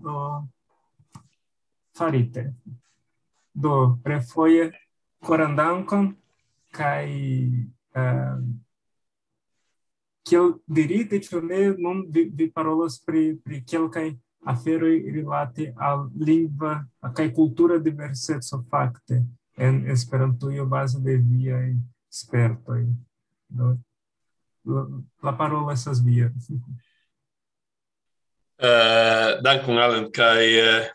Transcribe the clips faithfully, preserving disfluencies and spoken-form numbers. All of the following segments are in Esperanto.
do farite. Do, refoje koran dankon, kaj, eh, kiel dirite, ĉu ne, nun vi, vi parolos pri, pri kelkaj aferoj rilate al lingva kaj kultura diverseco fakte en Esperantujo baze de viaj spertoj. Do, la, la parolo estas via. Eh, dankon, Alan, kaj, eh,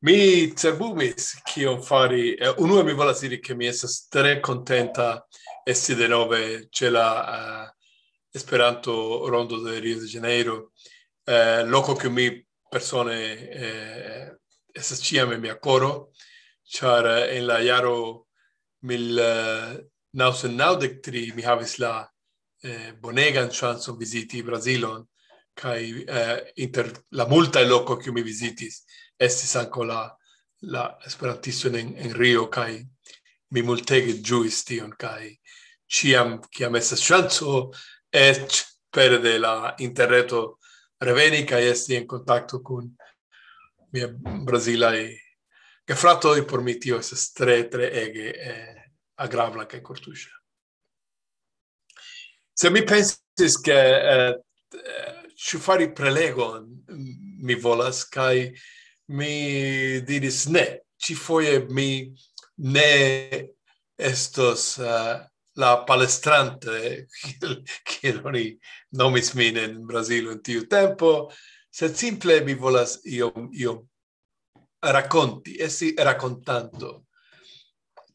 mi cerbumis kion fari. Eh, unue mi volas diri, ke mi estas tre kontenta esti denove ĉe la, eh, Esperanto Rondo de Rio de Janeiro, eh, loko kiu mi persone, eh, estas ĉiam en mia koro, ĉar, eh, en la jaro mil, eh, naŭcent naŭdek tri mi havis la, eh, bonegan ŝancon viziti Brazilon, kaj, eh, inter la multaj lokoj kiu mi vizitis, estis ankaŭ la, la esperantisto en, en Rio, kaj mi multege ĝuis tion, kaj ĉiam, kiam estas ŝanco, eĉ pere de la interreto, reveni kaj esti en kontakto kun mia brazilaj gefratoj, por mi tio estas tre, tre ege, eh, agrabla kaj kortuŝa. Se mi pensis, ke, eh, eh, ĉu fari prelegon mi volas, kaj mi diris ne. Ĉifoje mi ne estos, eh, la palestrante, kiel, kiel oni nomis min en Brazilo en tiu tempo, sed simple mi volas iom, iom rakonti, esti rakontanto.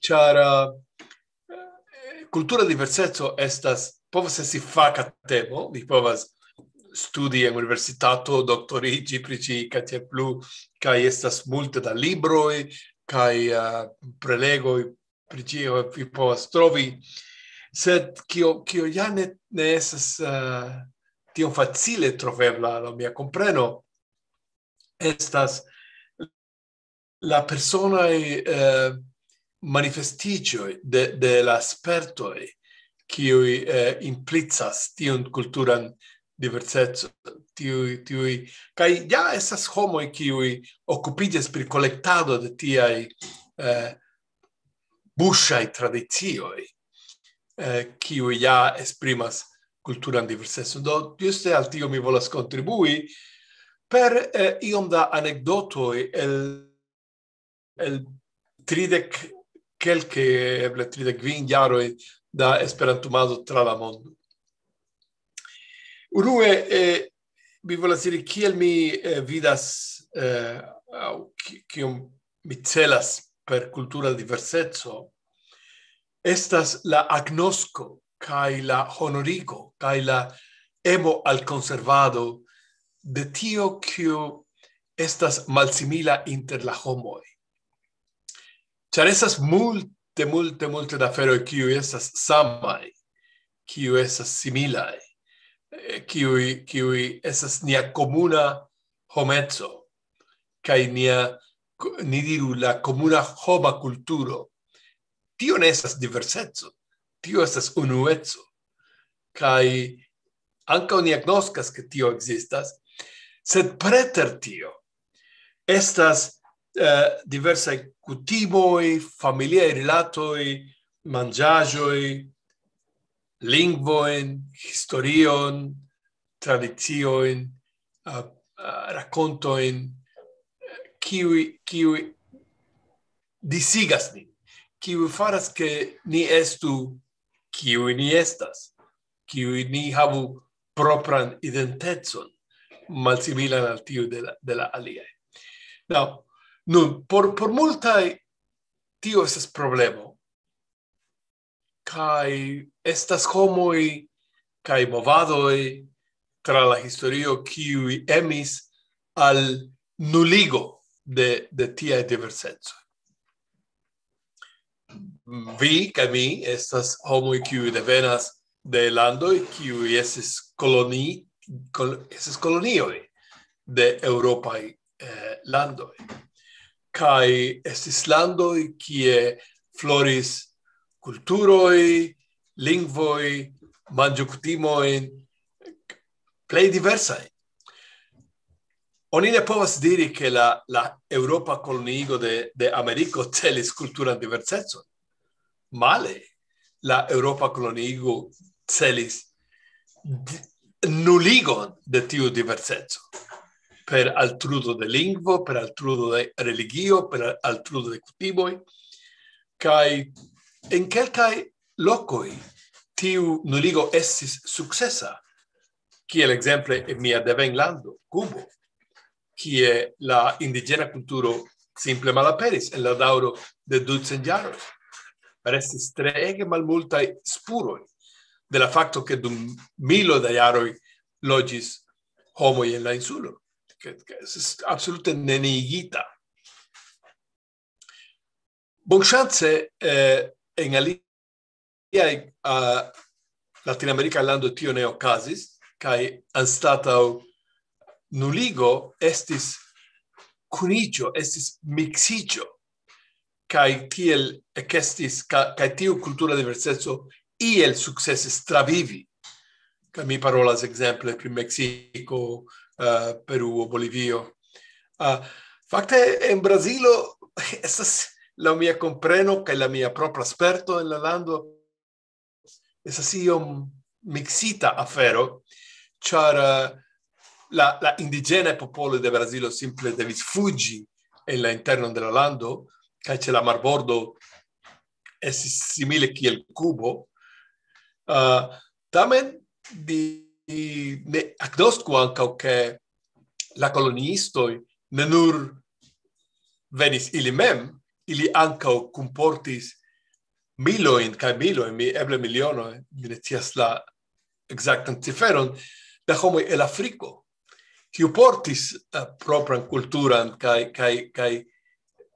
Ĉar, eh, kultura diverseco estas, povas esti faka temo, vi povas studi en universitato, doktoriĝi pri ĝi, kaj tiel plu, kaj estas multe da libroj, kaj, eh, prelegoj pri ĝi, vi povas trovi. Sed kio, kio ja ne, ne estas, eh, tiom facile trovebla, laŭ mia kompreno, estas la personaj, eh, manifestiĝoj de, de la spertoj, kiuj, eh, implicas tiun kulturan diversecon, tiuj, tiuj, kaj ja estas homoj, kiuj okupiĝas pri kolektado de tiaj, eh, buŝaj tradicioj, eh, kiuj ja esprimas kulturan diversecon. Do, juste al tio mi volas kontribui per, eh, iom da anekdotoj el, el tridek, kelke, eble tridek kvin jaroj da Esperantumado tra la mondo. Unue, eh, mi volas diri, kiel mi, eh, vidas, eh, aŭ ki-, kion mi celas per kultura diverseco, estas la agnosko kaj la honorigo kaj la emo al konservado de tio, kio estas malsimila inter la homoj. Ĉar estas multe, multe, multe da aferoj, kiuj estas samaj, kiuj estas similaj, eh, kiuj, kiuj estas nia komuna homeco, kaj nia, ko-, ni diru, la komuna homa kulturo. Tio ne estas diverseco, tio estas unueco. Kaj ankaŭ ni agnoskas, ke tio ekzistas, sed preter tio estas, eh, diversaj kutimoj, familiaj rilatoj, manĝaĵoj, lingvojn, historion, tradiciojn, eh, eh, rakontojn, kiuj, kiuj disigas nin, kiuj faras, ke ni estu kiuj ni estas, kiuj ni havu propran identecon, malsimilan al tiu de la, de la aliaj. Now, nun, por, por multaj tio estas problemo, kaj estas homoj kaj movadoj tra la historio, kiuj emis al nuligo de, de tiaj diversecoj. Vi kaj mi estas homoj, kiuj devenas de landoj, kiuj estis koloni-, kol-, estis kolonioj de eŭropaj, eh, landoj. Kaj estis landoj, kie floris kulturoj, lingvoj, manĝokutimoj, plej diversaj. Oni ne povas diri, ke la, la Eŭropa koloniigo de, de Ameriko celis kulturan diversecon. Male, la Eŭropa koloniigo celis nuligon de tiu diverseco per altrudo de lingvo, per altrudo de religio, per altrudo de kutimoj. Kaj en kelkaj lokoj tiu nuligo estis sukcesa, kiel ekzemple en mia devenlando, Kubo, kie la indiĝena kulturo simple malaperis en la daŭro de ducent jaroj. Restis treege malmultaj spuroj de la fakto, ke dum milo da jaroj loĝis homoj en la insulo, ke, ke estis absolute neniigita. Bonŝance, eh, en aliaj, uh, latinamerikaj landoj tio ne okazis, kaj anstataŭ nuligo estis kuniĝo, estis miksiĝo, kaj tiel ekestis, ka, kaj tiu kultura diverseco iel sukcesis travivi. Kaj mi parolas ekzemple pri Meksiko, uh, Peruo, Bolivio. Uh, fakte, en Brazilo estas, laŭ mia kompreno kaj la mia propra sperto en la lando, estas iom miksita afero, ĉar, uh, la, la indiĝenaj popoloj de Brazilo simple devis fuĝi en la internon de la lando, kaj ĉe la marbordo estis simile kiel Kubo. Uh, tamen ni, ni ne agnosku ankaŭ, ke la koloniistoj ne nur venis ili mem, ili ankaŭ kunportis milojn kaj milojn, mi eble milionoj, mi ne scias la ekzaktan ciferon, da homoj el Afriko, kiu portis, eh, propran kulturan kaj, kaj, kaj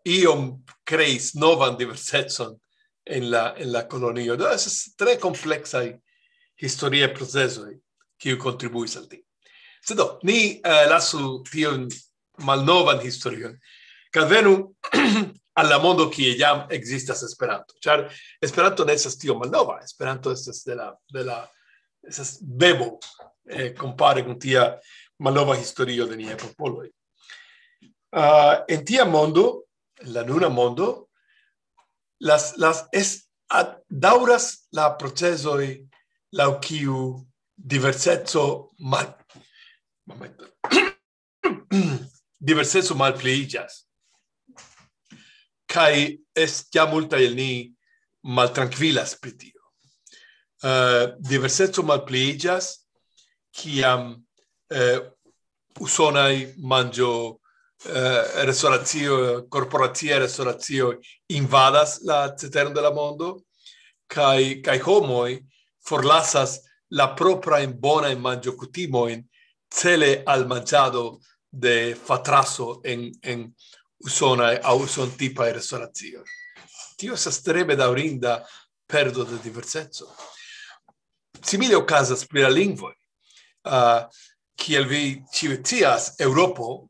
iom kreis novan diversecon en la, en la kolonio. Do, estas tre kompleksaj historiaj procesoj, kiu kontribuis al tio. Sed do, ni, eh, lasu tion malnovan historion. Kaj venu al la mondo, kie jam ekzistas Esperanto. Ĉar Esperanto ne estas tio malnova. Esperanto estas de la, de la, estas bebo, eh, kompare kun tia malnova historio de niaj popoloj. Ah, en tia mondo, la nuna mondo, las, las es, ad, daŭras la procesoj laŭ kiu diverseco mal-, momento. Diverseco malpliiĝas. Kaj es-, ja multaj el ni maltrankvilas pri tio. Eh, diverseco malpliiĝas, kiam, eh, usonaj manĝo, eh, restoracio, korporacia restoracio invadas la ceteron de la mondo, kaj, kaj homoj forlasas la proprajn bonajn manĝokutimojn cele al manĝado de fatraso en, en usonaj aŭ usontipaj restoracioj. Tio estas tre bedaŭrinda perdo de diverseco. Simile okazas pri la lingvoj. Ah, kiel vi ĉiuj scias, Eŭropo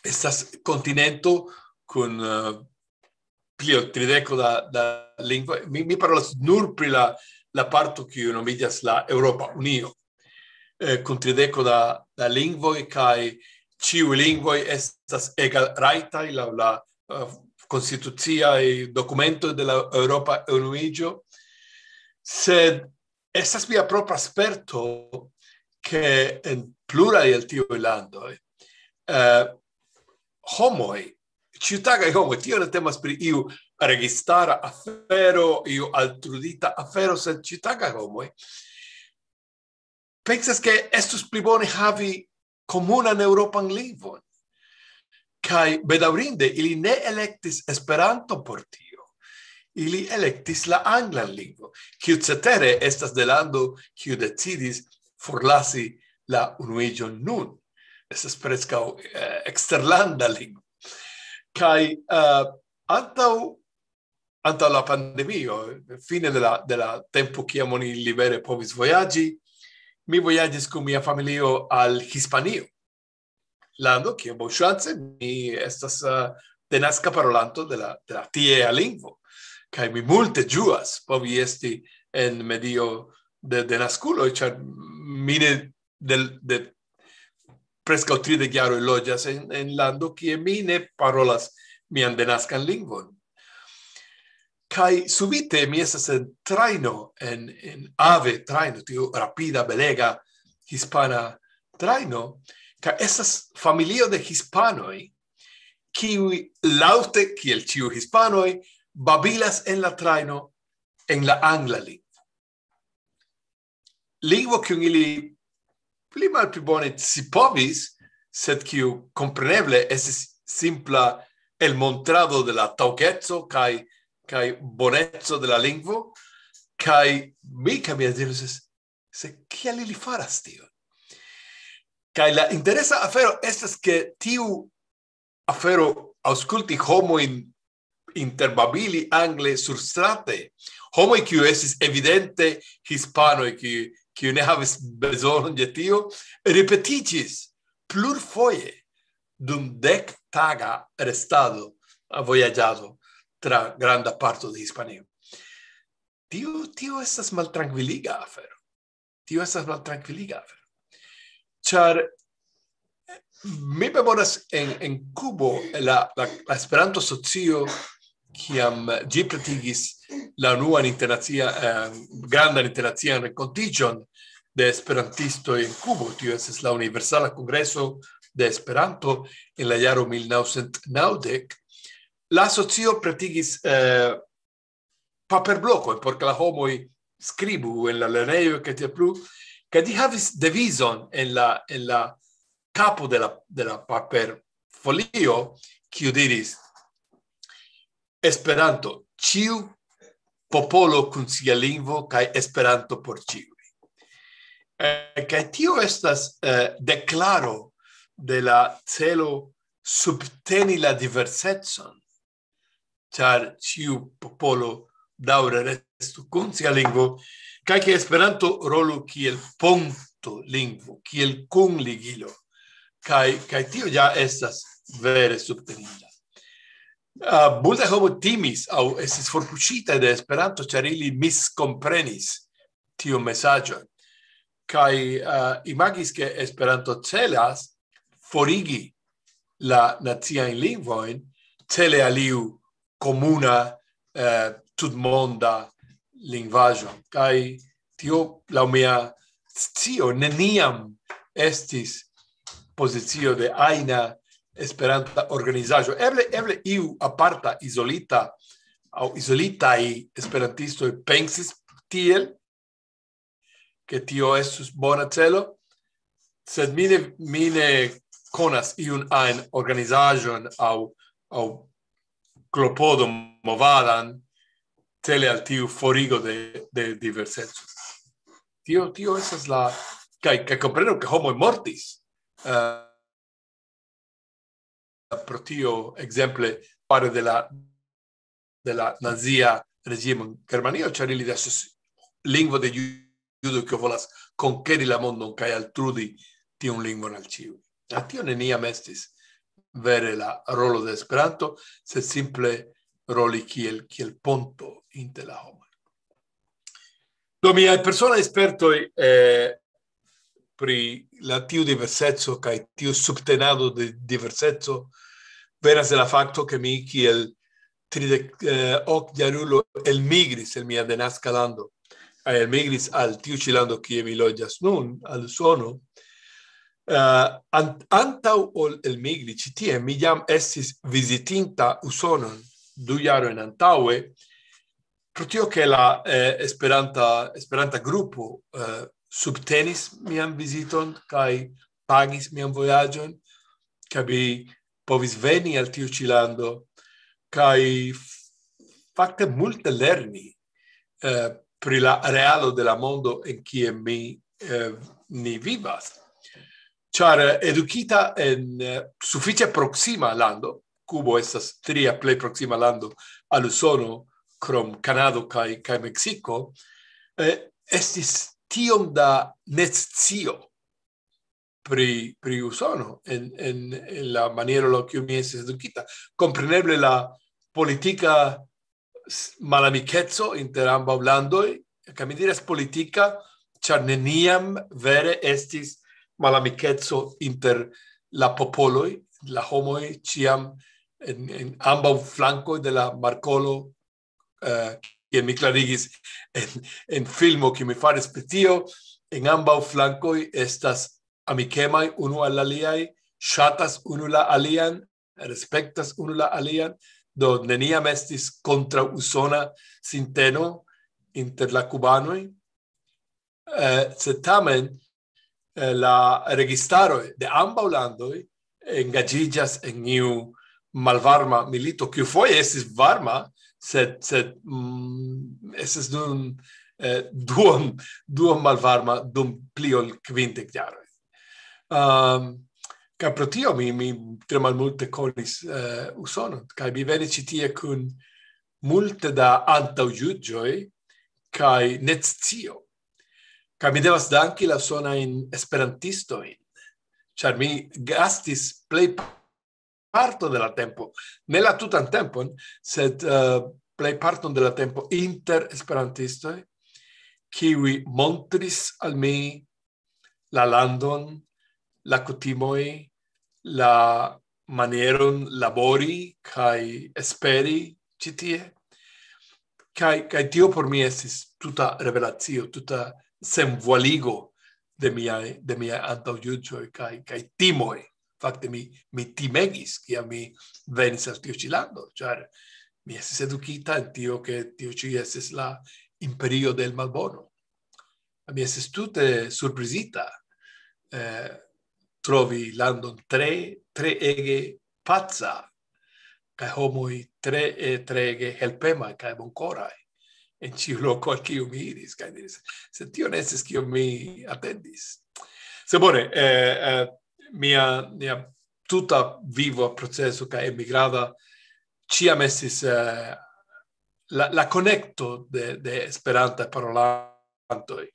estas kontinento kun, eh, pli ol trideko da, da lingvoj. Mi, mi parolas nur pri la, la parto, kiu nomiĝas la Eŭropa Unio, eh, kun trideko da, da lingvoj, kaj ĉiuj lingvoj estas egalrajtaj laŭ la, eh, konstituciaj dokumentoj de la Eŭropa Unuiĝo. Sed estas mia propra sperto, ke en pluraj el tiuj landoj, eh, homoj, ĉiutagaj homoj, tio ne temas pri iu registara afero, iu altrudita afero, sed ĉiutagaj homoj pensas, ke estus pli bone havi komunan eŭropan lingvon. Kaj bedaŭrinde, ili ne elektis Esperanto por tio. Ili elektis la anglan lingvon, kiu cetere estas de lando, kiu decidis forlasi la Unuiĝon nun. Estas preskaŭ, eh, eksterlanda lingvo. Kaj, eh, antaŭ, antaŭ la pandemio, fine de la, de la tempo, kiam oni libere povis vojaĝi, mi vojaĝis kun mia familio al Hispanio, lando, kie bonŝance mi estas, eh, denaska parolanto de la, de la tiea lingvo. Kaj mi multe ĝuas povi esti en medio de, de naskuloj, ĉar mi ne del, de, preskaŭ tridek jaroj loĝas en, en lando, kie mi ne parolas mian denaskan lingvon. Kaj subite mi estas en trajno, en, en ave trajno, tiu rapida, belega hispana trajno, kaj estas familio de hispanoj, kiuj laŭte, kiel ĉiu hispanoj, babilas en la trajno en la angla lingvo. Lingvo, kiun ili pli malpli bone scipovis, sed kiu kompreneble estis simpla elmontrado de la taŭgeco kaj, kaj boneco de la lingvo, kaj mi kaj mia diris, se kiel ili faras tion? Kaj la interesa afero estas, ke tiu afero aŭskulti homojn interbabili angle surstrate, homoj kiuj estis evidente hispanoj, kiuj, kiuj ne havis bezonon de tio, ripetiĝis plurfoje dum dek taga restado, vojaĝado tra granda parto de Hispanio. Tio, tio estas maltrankviliga afero. Tio estas maltrankviliga afero. Ĉar mi memoras en, en Kubo la, la, la Esperanto-socio, kiam ĝi pretigis la unuan internacia, eh, grandan internacian renkontiĝon de esperantistoj en Kubo. Tio estis la Universala Kongreso de Esperanto en la jaro mil naŭcent naŭdek. La asocio pretigis, eh, paperblokojn, por ke la homoj skribu en la lernejo, kaj tiel plu, kaj ĝi havis devizon en la, en la kapo de la, de la paperfolio, kiu diris: "Esperanto, ĉiu popolo kun sia lingvo, kaj Esperanto por ĉiuj." Eh, kaj tio estas, eh, deklaro de la celo subteni la diversecon, ĉar ĉiu popolo daŭre restu kun sia lingvo, kaj ke Esperanto rolu kiel ponto lingvo, kiel kunligilo. Kaj, kaj tio ja estas vere subteninda. Ah, multaj homoj timis aŭ estis forpuŝitaj de Esperanto, ĉar ili miskomprenis tiun mesaĝon. Kaj, ah, imagis, ke Esperanto celas forigi la naciajn lingvojn, cele al iu komuna, eh, tutmonda lingvaĵo. Kaj tio, laŭ mia scio, neniam estis pozicio de ajna Esperanta organizaĵo. Eble, eble iu aparta, izolita aŭ izolitaj esperantistoj pensis tiel, ke tio estus bona celo, sed mi ne, mi ne konas iun ajn organizaĵon aŭ, aŭ klopodon movadan cele al tiu forigo de, de diverseco. Tio, tio estas la, kaj, kaj komprenu, ke homoj mortis, eh, pro tio, ekzemple, fare de la, de la nazia reĝimo en Germanio, ĉar ili estas lingvo de ju-, judo, kiu volas konkeri la mondon kaj altrudi tiun lingvon al ĉiuj. A tio neniam estis vere la rolo de Esperanto, sed simple roli kiel, kiel ponto inter la homoj. Do miaj personaj spertoj, eh, pri la tiu diverseco kaj tiu subtenado de diverseco venas de la fakto, ke mi kiel tridek, eh, ok jarulo elmigris el mia denaska lando. Elmigris al tiu ĉi lando, kie mi loĝas nun, al Usono. Eh, an-, antaŭ ol elmigri ĉi tie, mi jam estis vizitinta Usonon du jarojn antaŭe, pro tio, ke la, eh, Esperanta, Esperanta grupo, eh, subtenis mian viziton kaj pagis mian vojaĝon, kaj mi povis veni al tiu ĉi lando, kaj f-, fakte multe lerni, eh, pri la realo de la mondo en kie mi, eh, ni vivas. Ĉar, eh, edukita en, eh, sufiĉe proksima lando, Kubo estas tria plej proksima lando al Usono, krom Kanado kaj, kaj Meksiko, eh, estis tiom da nescio pri, pri Usono en, en, en la maniero laŭ kiu mi estis edukita. Kompreneble la politika s-, malamikeco inter ambaŭ landoj, kaj mi diras politika, ĉar neniam vere estis malamikeco inter la popoloj, la homoj ĉiam en, en ambaŭ flankoj de la markolo, eh, kiel mi klarigis en, en filmo, kiu mi faris pri tio, en ambaŭ flankoj estas amikemaj unu al aliaj, ŝatas unu la alian, respektas unu la alian, do neniam estis kontraŭ usona sinteno inter la kubanoj. Eh, sed tamen, eh, la registaroj de ambaŭ landoj engaĝiĝas en iu malvarma milito, kiu foje estis varma, sed, sed, mm, estis nun, eh, duon, duon malvarma dum pli ol kvindek jaroj. Ehm, kaj pro tio mi, mi tre malmulte konis, eh, Usonon, kaj mi venis ĉi tie kun multe da antaŭjuĝoj kaj netscio. Kaj mi devas danki la usonajn esperantistojn, ĉar mi gastis plej parto de la tempo, ne la tutan tempon, sed, eh, plej parton de la tempo inter esperantistoj, kiuj montris al mi la landon, la kutimoj, la manieron labori kaj esperi ĉi tie. Kaj, kaj tio por mi estis tuta revelacio, tuta senvualigo de miaj, de miaj antaŭjuĝoj kaj, kaj timoj. Fakte mi, mi timegis, kiam mi venis al tiu ĉi lando, ĉar mi estis edukita en tio, ke tio ĉi estis la imperio del malbono. Mi estis tute surprizita, eh, trovi landon tre, tre ege paca, kaj homoj tre, eh, tre ege helpemaj kaj bonkoraj en ĉiu loko al kiu mi iris, kaj diris, "Sed tio ne estis kion mi atendis." Se bone, eh, eh, mia, mia tuta vivo proceso kaj emigrada ĉiam estis, eh, la, la konekto de, de Esperanta parolantoj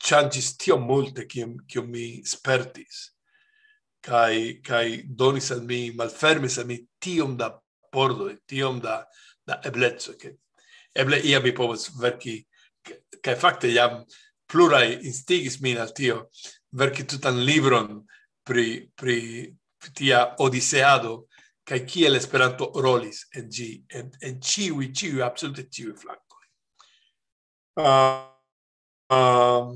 ŝanĝis tiom multe, kiom, kiom mi spertis, kaj, kaj donis al mi, malfermis al mi tiom da pordoj, tiom da, da ebleco, ke eble ia mi povas verki, ke, kaj fakte jam pluraj instigis min al tio, verki tutan libron pri, pri tia odiseado, kaj kiel Esperanto rolis en ĝi, en, en ĉiuj, ĉiuj, absolute ĉiuj flankoj. Ah, ah,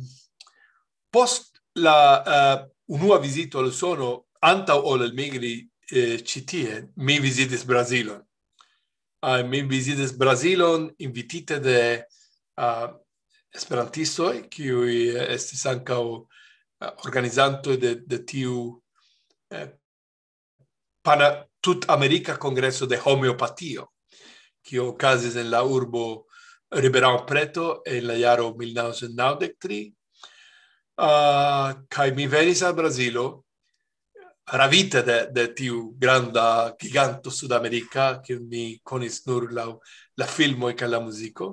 post la, ah, unua vizito al Usono, antaŭ ol elmigri, eh, ĉi tie, mi vizitis Brazilon. Ah, mi vizitis Brazilon invitite de, ah, esperantistoj, kiuj estis ankaŭ, ah, organizantoj de, de tiu, eh, pana-, tut-amerika kongreso de homeopatio, kiu okazis en la urbo Ribeirão Preto en la jaro mil naŭcent naŭdek tri. Ah, kaj mi venis al Brazilo, ravite de, de tiu granda giganto sudamerika, kiun mi konis nur laŭ la filmoj kaj la muziko.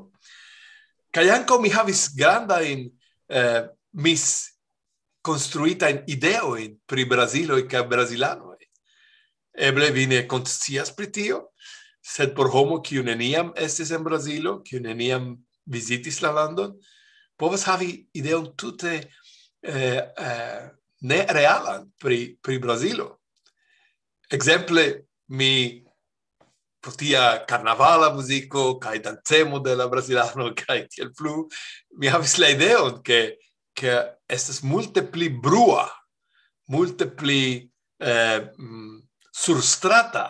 Kaj ankaŭ mi havis grandajn, eh, mis-, konstruitajn ideojn pri Braziloj kaj brazilanoj. Eble vi ne konscias pri tio, sed por homo, kiu neniam estis en Brazilo, kiu neniam vizitis la landon, povas havi ideon tute, eh, eh, nerealan pri, pri Brazilo. Ekzemple, mi pro tia karnavala muziko kaj dancemo de la brazilano kaj tiel plu, mi havis la ideon, ke, ke estas multe pli brua, multe pli, eh, mm, surstrata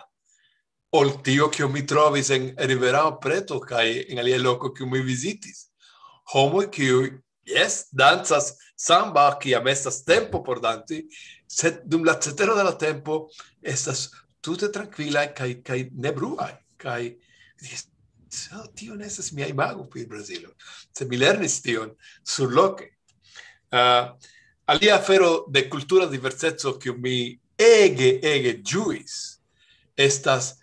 ol tio, kio mi trovis en Ribeirão Preto kaj en alia loko, kiu mi vizitis. Homoj, kiuj, jes, dancas samba, kiam estas tempo por danci, sed dum la cetero de la tempo estas tute trankvilaj kaj, kaj nebruaj. Kaj, jes, so, tio ne estas mia imago pri Brazilo. Se mi lernis tion surloke. Ah, alia afero de kultura diverseco, kiu mi ege, ege ĝuis, estas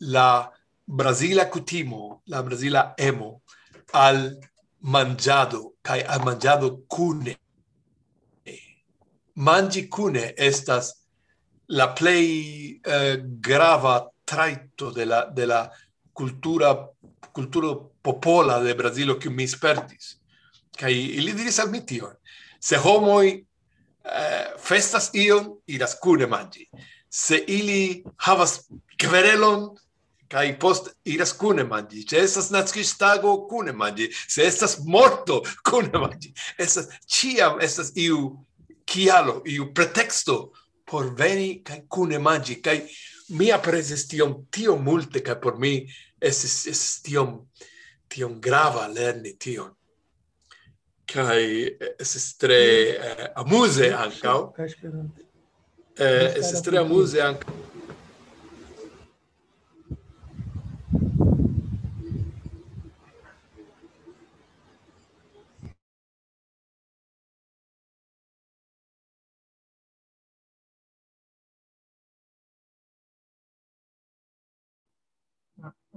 la brazila kutimo, la brazila emo al manĝado kaj al manĝado kune. Manĝi kune estas la plej, eh, grava trajto de la, de la kultura, kulturo popola de Brazilo, kiu mi spertis. Kaj ili diris al mi tion. Se homoj eh, festas ion, iras kune manĝi. Se ili havas kverelon, kaj post iras kune manĝi. Se estas naskiĝtago, kune manĝi. Se estas morto, kune manĝi. Estas, ĉiam estas iu kialo, iu preteksto por veni kaj kune manĝi. Kaj mi aprezis tion tiom multe, kaj por mi estis, estis tiom, tiom grava lerni tion. Kaj estis tre, eh, amuze ankaŭ. Kaj Esperanto. Eh, estis tre amuze ankaŭ.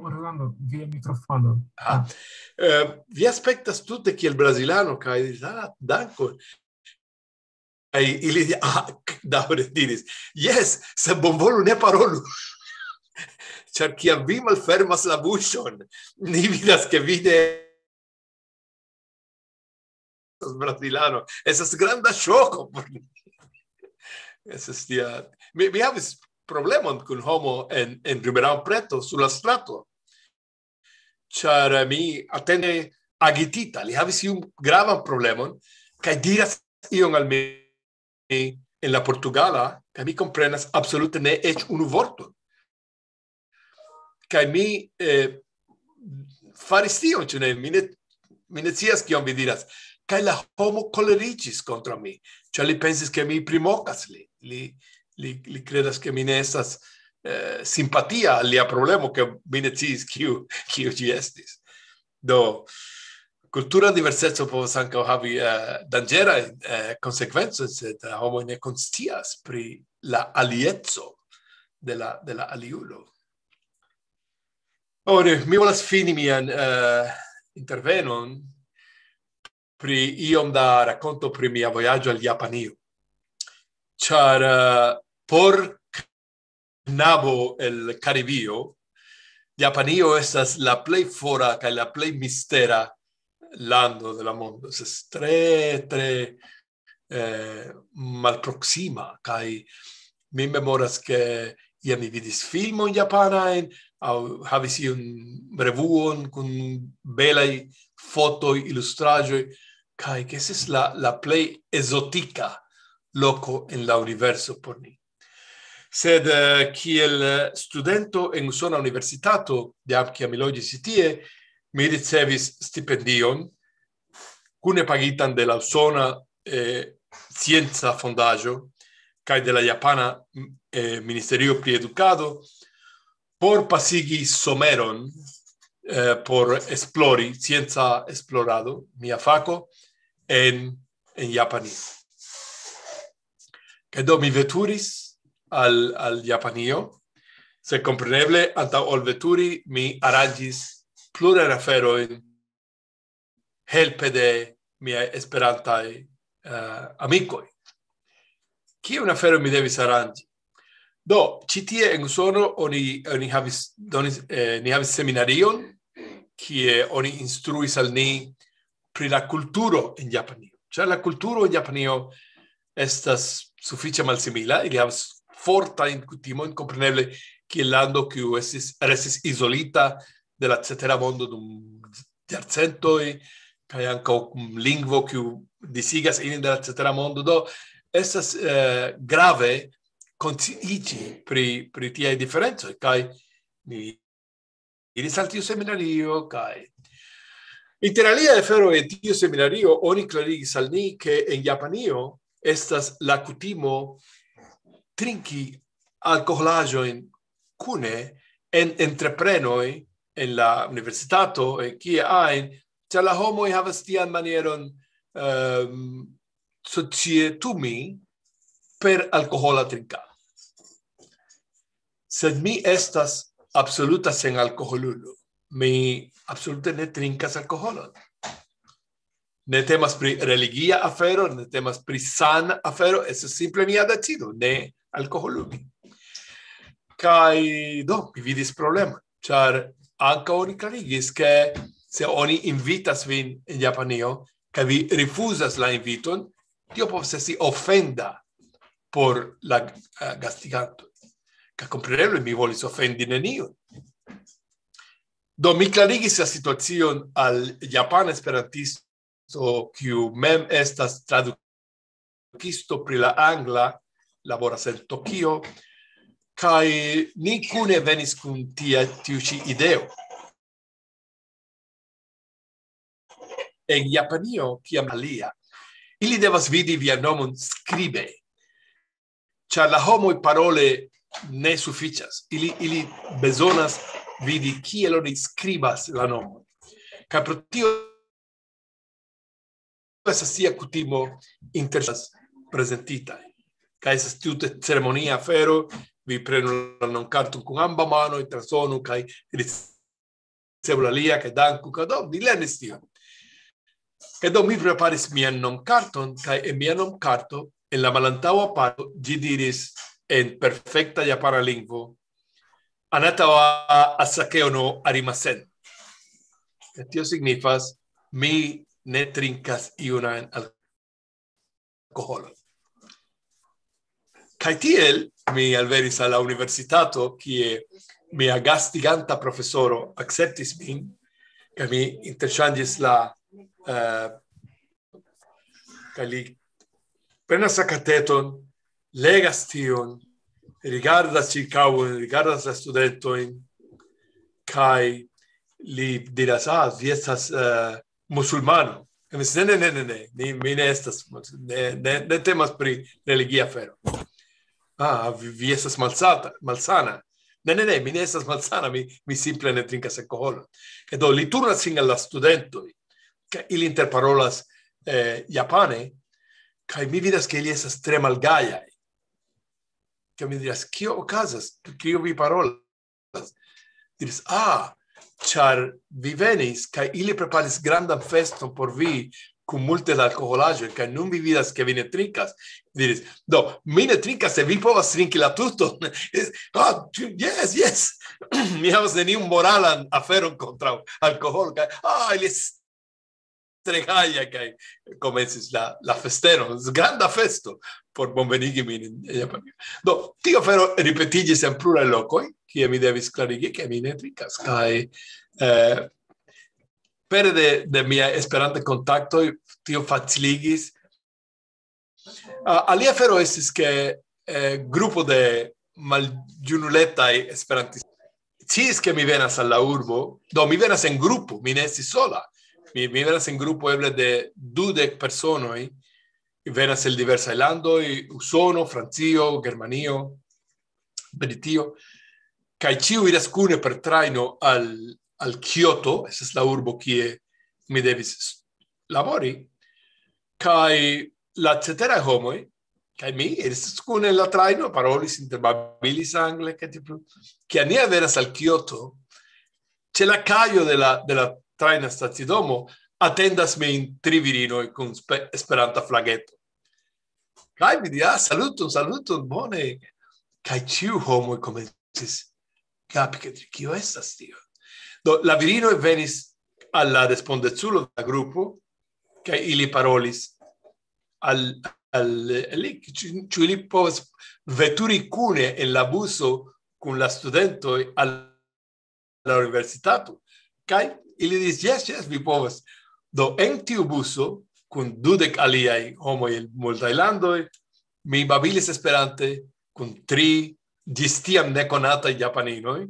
Orlando, via mikrofono. Ah, eh, vi aspektas tute kiel brazilano, kaj, ah, dankon. Kaj ili, ah, daŭre diris: "Jes, se bonvolu ne parolu." Ĉar kiam vi malfermas la buŝon, ni vidas, ke vi ne estas brazilano. Estas granda ŝoko por ni. Estas tia. Mi, mi havis problemon kun homo en, en Ribeirão Preto, sur la strato. Ĉar mi atende agitita. Li havis iun gravan problemon, kaj diras ion al mi en la portugala, kaj mi komprenas absolute ne eĉ unu vorton. Kaj mi, eh, faris tion, ĉu ne? Mi ne, mi ne scias, kion vi diras. Kaj la homo koleriĝis kontraŭ mi, ĉar li pensis, ke mi primokas li. Li, li, li kredas, ke mi ne estas, eh, simpatia al lia problemo, ke mi ne sciis, kiu, kiu ĝi estis. Do, kultura diverseco povas ankaŭ havi, eh, danĝerajn, eh, konsekvencojn, se la homoj ne konscias pri la alieco de la, de la aliulo. Ora, mi volas fini mian, eh, intervenon pri iom da rakonto pri mia vojaĝo al Japanio. Ĉar, eh, por knabo el Karibio, Japanio estas la plej fora kaj la plej mistera lando de la mondo. Estas tre, tre, eh, malproksima, kaj mi memoras, ke iam mi vidis filmojn japanajn, aŭ havis iun revuon kun belaj fotoj, ilustraĵoj, kaj ke estis la, la plej ezotika loko en la universo por ni. Sed, eh, kiel, eh, studento en Usona Universitato, jam kiam mi loĝis ĉi tie, mi ricevis stipendion, kune pagitan de la Usona, eh, Scienca Fondaĵo kaj de la Japana, eh, Ministerio pri Edukado, por pasigi someron, eh, por esplori, scienca esplorado, mia fako, en, en Japanio. Kaj do mi veturis al, al Japanio, sed kompreneble, antaŭ ol veturi, mi aranĝis plurajn aferojn helpe de miaj esperantaj, eh, amikoj. Kiun aferon mi devis aranĝi? Do, ĉi tie en Usono oni, oni havis, donis, eh, ni havis seminarion, kie oni instruis al ni pri la kulturo en Japanio. Ĉar la kulturo en Japanio estas sufiĉe malsimila, ili havas fortajn kutimojn, kompreneble, kiel lando, kiu estis, restis izolita de la cetera mondo dum jarcentoj, kaj ankaŭ kun lingvo, kiu disigas ilin de la cetera mondo. Do, estas, eh, grave konsciiĝi pri, pri tiaj diferencoj, kaj mi iris al tiu seminario, kaj inter alia afero en tiu seminario oni klarigis al ni, ke en Japanio estas la kutimo trinki alkoholaĵojn kune en entreprenoj, en la universitato, en kie ajn, ĉar la homoj havas tian manieron, ehm, societumi per alkohola trinkado. Sed mi estas absoluta senalkoholulo. Mi absolute ne trinkas alkoholon. Ne temas pri religia afero, ne temas pri sana afero, estas simple mia decido, ne alkoholumi. Kaj do, mi vidis problemon, ĉar ankaŭ oni klarigis, ke se oni invitas vin en Japanio, kaj vi rifuzas la inviton, tio povas esti ofenda por la, eh, gastiganto. Kaj kompreneble mi volis ofendi neniun. Do mi klarigis la situacion al japana esperantisto, kiu mem estas tradukisto pri la angla, laboras en Tokio, kaj ni kune venis kun tia, tiu ĉi ideo. En Japanio, kiam alia, ili devas vidi vian nomon skribe, ĉar la homoj parole ne sufiĉas. Ili, ili bezonas vidi kiel oni skribas la nomon. Kaj pro tio estas tia kutimo inter prezentitaj. Kaj estas tute ceremonia afero, vi prenu la nomkarton kun amba mano, transdonu kaj ricevu la lia, kaj danku, kaj do, mi lernis tion. Kaj do mi preparis mian nomkarton, kaj en mia nomkarto, en la malantaŭa parto, ĝi diris en perfekta japana lingvo, "Anata wa asakeo no arimasen." Kaj tio signifas, "Mi ne trinkas iun ajn alkoholon." Kaj tiel mi alvenis al la universitato, kie mia gastiganta profesoro akceptis min, kaj mi interŝanĝis la, eh, kaj li prenas la kateton, legas tion, rigardas ĉirkaŭen, rigardas la studentojn, kaj li diras, "Ah, vi estas, eh, musulmano." Mi diris, "Ne, ne, ne, ne, ne, mi, mi ne estas, ne, ne, ne temas pri religia afero." "Ah, vi, vi estas malsata, malsana." "Ne, ne, ne, mi ne estas malsana, mi, mi simple ne trinkas alkoholon." Kaj do li turnas sin al la studentoj, kaj ili interparolas, eh, japane, kaj mi vidas, ke ili estas tre malgajaj. Kaj mi diras, "Kio okazas? Kio vi parolas?" Diris, "Ah, ĉar vi venis, kaj ili preparis grandan feston por vi kun multe da alkoholaĵoj, kaj nun vi vidas, ke vi ne trinkas." Diris, "Do, mi ne trinkas, se vi povas trinki la tuton." "Ah, jes, jes." Mi havas neniun moralan aferon kontraŭ alkoholo, kaj, ah, ili estas tre gaja, kaj komencis la, la festeno, granda festo por bonvenigi min en Japanio. Do, tio afero ripetiĝis en pluraj lokoj, kie mi devis klarigi, ke mi ne trinkas, kaj, eh, pere de, de mia Esperanta kontaktoj, tio faciligis. Ah, alia afero estis, ke, eh, grupo de maljunuletaj esperantistoj sciis, ke mi venas al la urbo, do mi venas en grupo, mi ne estis sola. Mi, mi venas en grupo eble de dudek personoj, venas el diversaj landoj, Usono, Francio, Germanio, Britio, kaj ĉiu iras kune per trajno al, al Kioto, estas la urbo, kie mi devis s-, labori, kaj la ceteraj homoj, kaj mi iris kune en la trajno, parolis, interbabilis angle, kaj tiel plu. Kiam ni alvenas al Kioto, ĉe la kajo de la, de la trajna stacidomo, atendas min tri virinoj kun spe-, Esperanta flageto. Kaj mi diras, "Ah, saluton, saluton, bone." Kaj ĉiu homoj komencis kapi, ke, "Kio estas tio?" Do, la virinoj venis al la respondeculo de la grupo, kaj ili parolis al, al li, ĉu, ĉu ili povas veturi kune en la buso kun la studentoj al la universitato. Kaj ili diris, "Jes, jes, vi povas." Do, en tiu buso, kun dudek aliaj homoj el multaj landoj, mi babilis Esperante kun tri ĝis tiam nekonataj japaninoj,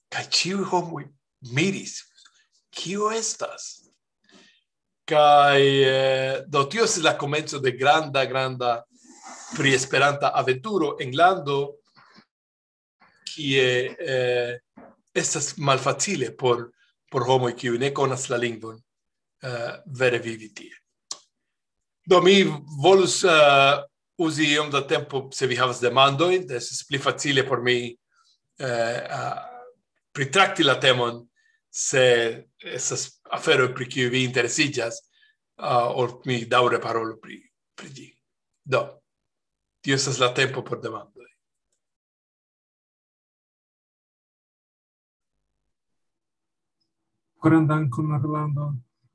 kaj ĉiuj homoj miris, "Kio estas?" Kaj, eh, do, tio estis la komenco de granda, granda pri Esperanta aventuro en lando, kie, eh, estas malfacile por, por homoj, kiuj ne konas la lingvon, eh, vere vivi tie. Do, mi volus, eh, uzi iom da tempo, se vi havas demandojn, estis pli facile por mi, eh, ah, pritrakti la temon, se estas aferoj, pri kiuj vi interesiĝas, ah, ol mi daŭre parolu pri, pri ĝi. Do, tio estas la tempo por demandoj. Koran dankon, Rolando.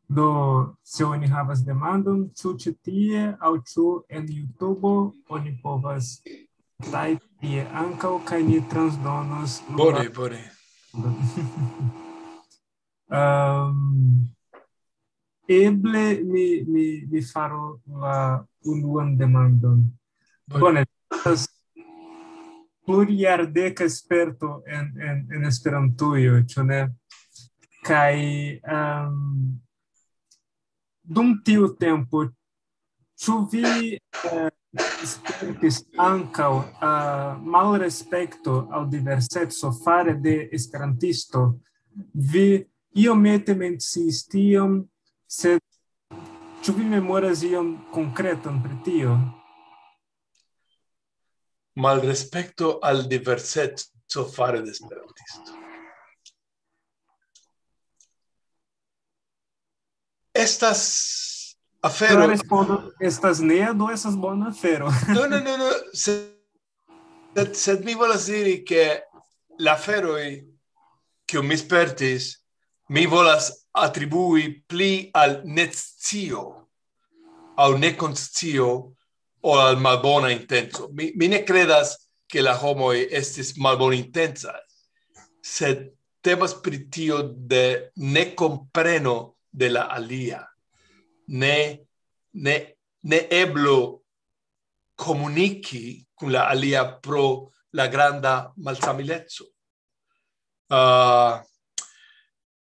Do, se oni havas demandon, ĉu ĉi tie aŭ ĉu en YouTube, oni povas tajpi tie ankaŭ, kaj ni transdonos la... Bone, bone. Ehm, eble mi, mi, mi faru la unuan demandon. Bone. Bone, estas plurjardeka sperto en, en, en Esperantujo, ĉu ne? Kaj, ehm, dum tiu tempo, ĉu vi, eh, spertis ankaŭ, eh, malrespekto al diverseco fare de esperantisto? Vi iomete menciis tion, sed ĉu vi memoras ion konkretan pri tio? Malrespekto al diverseco fare de esperantisto. Estas afero. La respondo estas ne, do estas bona afero. No, no, no, no. Sed, sed, sed mi volas diri, ke la aferoj, kiu mi spertis, mi volas atribui pli al netscio aŭ nekonscio ol al malbona intenco. Mi, mi ne kredas, ke la homoj estis malbonincaj, sed temas pri tio de nekompreno de la alia. Ne, ne, ne eblo komuniki kun la alia pro la granda malsamileco. Ah,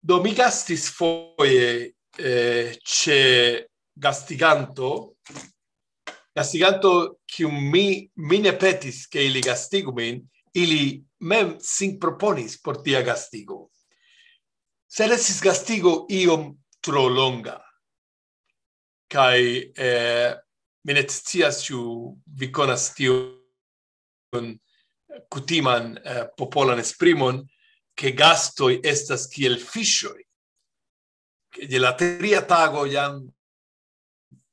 do mi gastis foje, eh, ĉe gastiganto, gastiganto, kiu mi, mi ne petis, ke ili gastigu min, ili mem sin proponis por tia gastigo. Sed estis gastigo iom tro longa. Kaj, eh, mi ne scias, ĉu vi konas tiun kutiman, eh, popolan esprimon, ke gastoj estas kiel fiŝoj. Ke je la tria tago jam,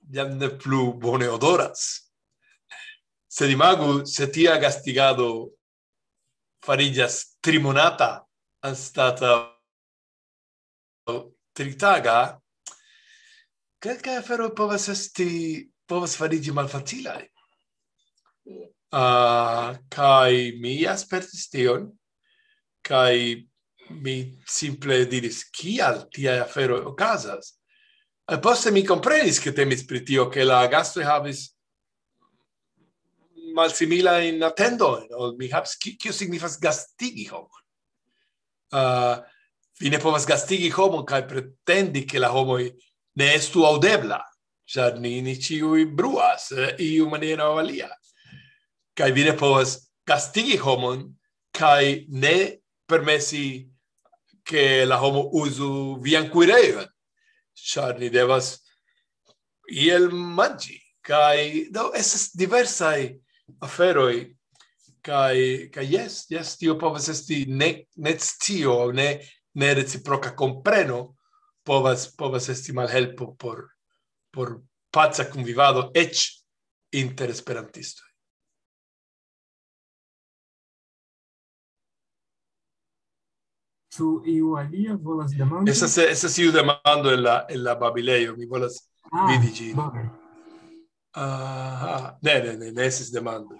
jam ne plu bone odoras. Sed imagu, se tia gastigado fariĝas trimonata anstataŭ tritaga, kelkaj aferoj povas esti, povas fariĝi malfacilaj. Ah, kaj mi aspertis tion, kaj mi simple diris, "Kial tiaj aferoj okazas?" Kaj poste mi komprenis, ke temis pri tio, ke la gastoj havis malsimilajn atendojn, ol mi havis, ki-, kio signifas gastigi homon. Ah, vi ne povas gastigi homon kaj pretendi, ke la homoj ne estu aŭdebla, ĉar ni, ni ĉiuj bruas, eh, iu maniera aŭ alia. Kaj vi ne povas gastigi homon kaj ne permesi, ke la homo uzu vian kuirejon, ĉar ni devas iel manĝi. Kaj do estas diversaj aferoj, kaj, kaj jes, jes, tio povas esti ne, ne scio, ne, ne reciproka kompreno, povas, povas esti malhelpo por, por paca kunvivado eĉ inter esperantistoj. Ĉu iu alia volas demandi? Estas, estas iu demando en la, en la babilejo, mi volas Ah, vidi ĝin. Bone. Aha, ne, ne, ne, ne estas demando.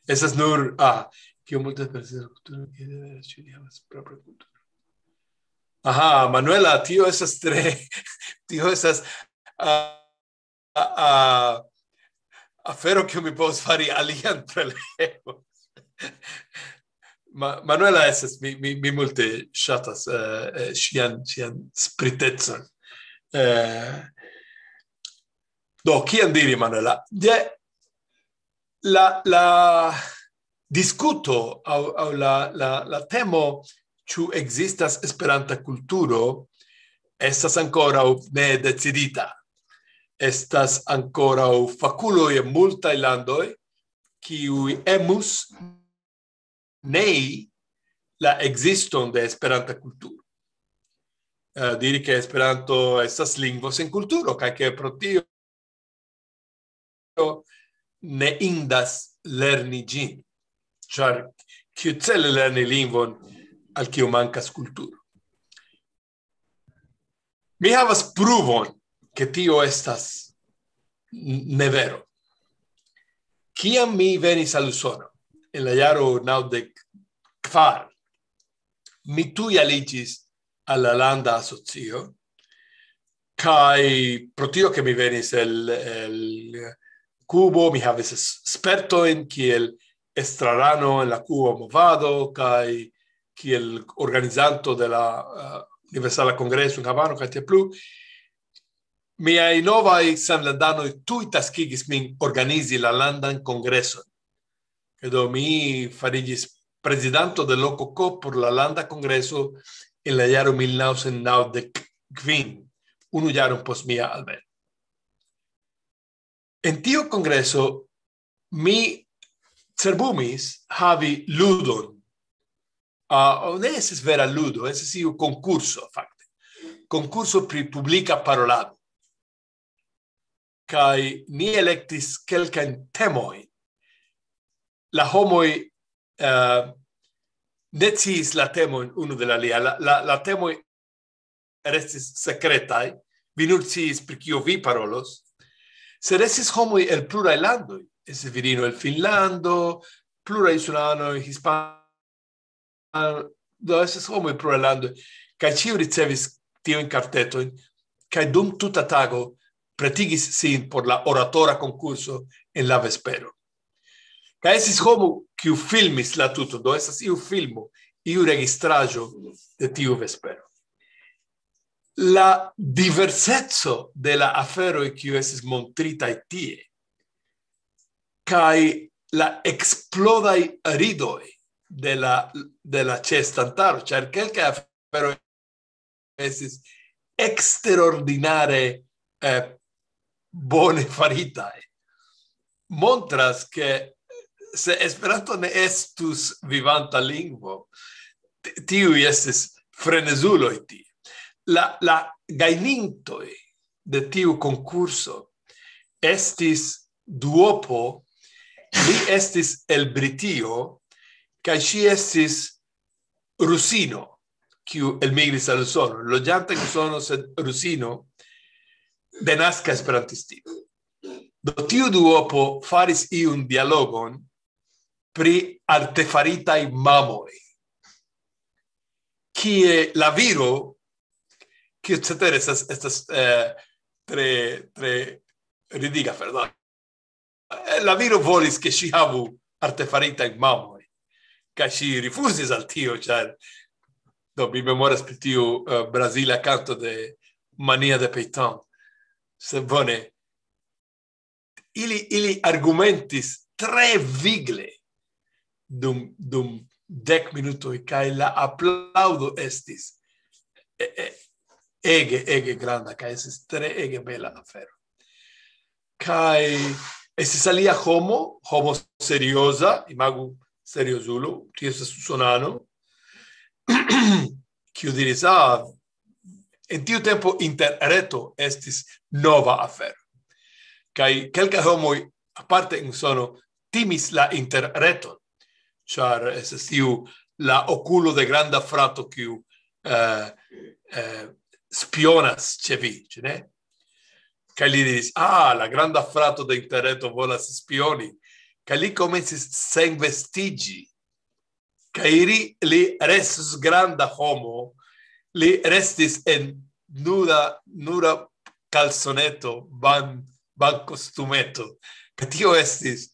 Estas nur, ah, kio multe per ser kulturo, ke deve ĉiuj havas propra kulturo. Aha, Manuela, tio estas tre, tio estas, ah, ah, ah, afero, kiu mi povas fari alian prelego. Ma-, Manuela estas, mi, mi, mi multe ŝatas, eh, eh, ŝian, ŝian spritecon. Eh, do, kion diri, Manuela? De la, la diskuto aŭ, aŭ la, la, la temo, ĉu ekzistas Esperanta kulturo, estas ankoraŭ ne decidita. Estas ankoraŭ fakuloj en multaj landoj, kiuj emus nei la ekziston de Esperanta kulturo. Eh, diri, ke Esperanto estas lingvo sen kulturo, kaj ke pro tio ne indas lerni ĝin. Ĉar kiu cele lerni lingvon, al kiu mankas kulturo? Mi havas pruvon, ke tio estas n-, ne vero. Kiam mi venis al Usono en la jaro naŭdek kvar, mi tuj aliĝis al la landa asocio, kaj pro tio, ke mi venis el, el Kubo, mi havis s-, spertojn kiel estrarano en la Kuba movado, kaj kiel organizanto de la, eh, Universala Kongreso en Havano, kaj tiel plu. Miaj novaj samlandanoj tuj taskigis min organizi la landan kongreson. Kaj do mi fariĝis prezidanto de L K K por la landa kongreso en la jaro mil naŭcent naŭdek kvin, unu jaron post mia alveno. En tiu kongreso mi cerbumis havi ludon. Ah, ne estis vera ludo, estis iu konkurso, fakte. Konkurso pri publika parolado. Kaj ni elektis kelkajn temojn. La homoj, eh, ne sciis la temojn unu de la alia. La, la, la temoj restis sekretaj, vi nur sciis, pri kio vi parolos. Sed estis homoj el pluraj landoj. Estis virino el Finnlando, pluraj insulanoj, hispanoj, do estis homoj el pluraj landoj. Kaj ĉiu ricevis tiujn kartetojn, kaj dum tuta tago pretigis sin por la oratora konkurso en la vespero. Kaj estis homo, kiu filmis la tuton, do estas iu filmo, iu registraĵo de tiu vespero. La diverseco de la aferoj, kiu estis montritaj tie, kaj la eksplodaj ridoj de la, de la ĉeestantaro, ĉar kelkaj aferoj estis eksterordinare, eh, bone faritaj, montras, ke se Esperanto ne estus vivanta lingvo, ti-, tiuj estis frenezuloj tie. La, la gajnintoj de tiu konkurso estis duopo, li estis el Britio, kaj ŝi estis rusino, kiu elmigris al Usono, loĝanta en Usono, sed rusino, denaska esperantistino. Do tiu duopo faris iun dialogon pri artefaritaj mamoj, kie la viro, kio cetere estas, estas, eh, tre, tre ridiga afero. Eh, la viro volis, ke ŝi havu artefaritajn mamojn, kaj ŝi rifuzis al tio, ĉar, do, mi memoras pri tiu, eh, brazila kanto de Mania de Peyton. Se bone, ili, ili argumentis tre vigle dum, dum dek minutoj, kaj la aplaŭdo estis, e, e, ege, ege granda, kaj estis tre ege bela afero. Kaj estis alia homo, homo serioza, imagu seriozulo, tio estas usonano, kiu diris, "Ah, en tiu tempo interreto estis nova afero." Kaj kelkaj homoj, aparte en Usono, timis la interreton, ĉar estas tiu la okulo de granda frato, kiu, eh, eh, spionas ĉe vi, ĉu ne? Kaj li diris, "Ah, la granda frato de interreto volas spioni." Kaj li komencis senvestiĝi. Kaj li, li restis granda homo, li restis en nuda, nura kalsoneto, ban-, bankostumeto. Kaj tio estis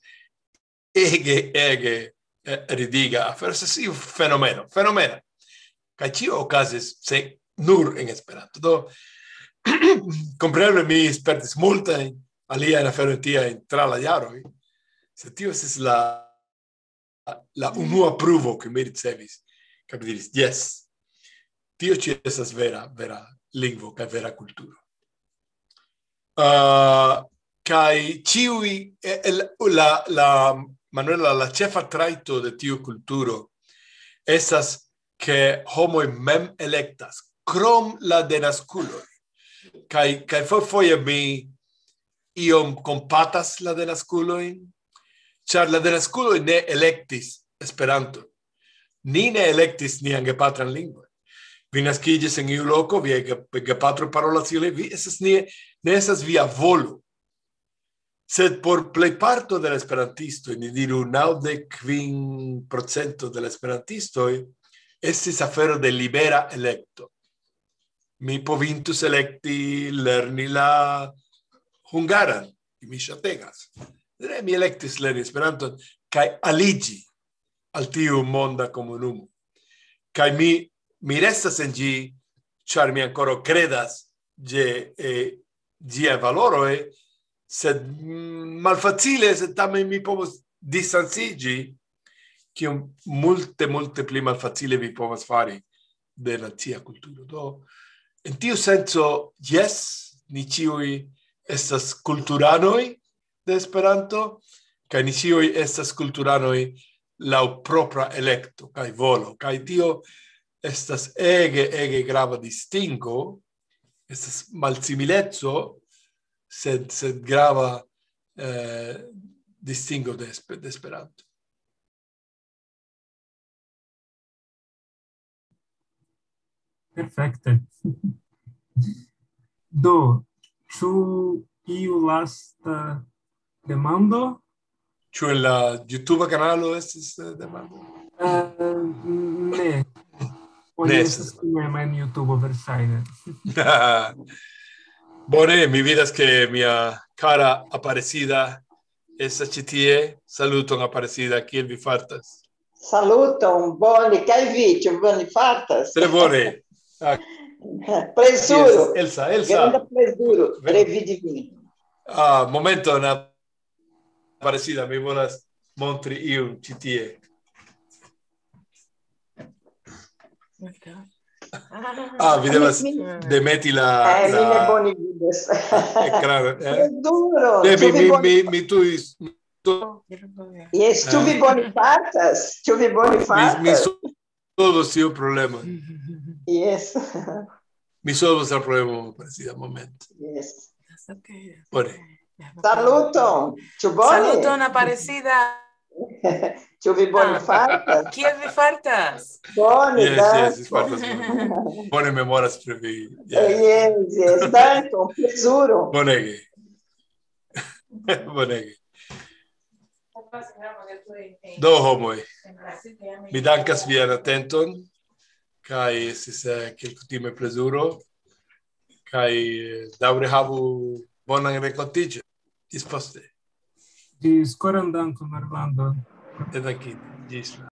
ege, ege, eh, ridiga afero. Estis iu fenomeno, fenomena. Kaj tio okazis, se nur en Esperanto. Do, kompreneble mi spertis multajn aliajn aferojn tiajn tra la jaroj. Sed tio estis la, la unua pruvo, ke mi ricevis, kaj mi diris, "Jes, tio ĉi estas vera, vera lingvo kaj vera kulturo." Ah, kaj ĉiuj, eh, el-, la, la, Manuela, la ĉefa trajto de tiu kulturo estas, ke homoj mem elektas, krom la denaskuloj. Kaj, kaj fo-, foje mi iom kompatas la denaskulojn, ĉar la denaskuloj ne elektis Esperanton. Ni ne elektis nian gepatran lingvon. Vi naskiĝis en iu loko, via ge-, gepatro parolas ili, vi estas ne, ne estas via volo. Sed por plejparto de la esperantistoj, ni diru naŭdek kvin procento de la esperantistoj, estis afero de libera elekto. Mi povintus elekti lerni la hungaran, mi ŝategas. Ne, mi elektis lerni Esperanton kaj aliĝi al tiu monda komunumo. Kaj mi, mi restas en ĝi, ĉar mi ankoraŭ kredas ĝe, eh, ĝiaj valoroj, sed, mm, malfacile, sed tamen mi povos distanciĝi, kiom multe, multe pli malfacile vi povas fari de nacia kulturo. Do, en tiu senco, jes, ni ĉiuj estas kulturanoj de Esperanto, kaj ni ĉiuj estas kulturanoj laŭ propra elekto kaj volo. Kaj tio estas ege, ege grava distingo, estas malsimileco, sed, sed grava, eh, distingo de Espe-, de Esperanto. Perfekte. Do, ĉu iu lasta demando? Ĉu en la YouTube kanalo estis, eh, demando? Eh, ne. Oni Ne estas estas. Kunema en YouTube, verŝajne. Bone, mi vidas ke mia kara Aparecida estas ĉi tie. Saluton, Aparecida, kiel vi fartas? Saluton, bone, kaj vi, ĉu bone fartas? Tre bone. Ah, Plezuro, Elsa, Elsa. Granda plezuro Venu. Revidi vin. Ah, momenton, Aparecida, mi volas montri iun ĉi tie. Ah, vi devas demeti la, Eh, mi ne la bone vidas. Ekrano. Eh? Plezuro. Ne, Ĉu mi, vi mi, bone- mi, mi tuj... Yes, ĉu vi bone fartas? Ĉu vi bone Mi, mi fartas? solvos tiu problema. Yes. Mi solvos la problema, Aparecida, moment. Yes. Bone. Saluton. Ĉu bone? Saluton, Aparecida. Ĉu vi bone Ah. fartas? Kiel vi fartas? Bone, Yes, yes, dankon. vi fartas bone. Bone memoras pri vi. Eh, Yeah. Yes, yes, dankon, plezuro. Bonege. Bonege. Do, homoj, mi dankas vian atenton, kaj estis, eh, kiel kutime plezuro, kaj, eh, daŭre havu bonan renkontiĝon. Ĝis poste. Ĝis koran dankon, Armando. Danke. Ĝis la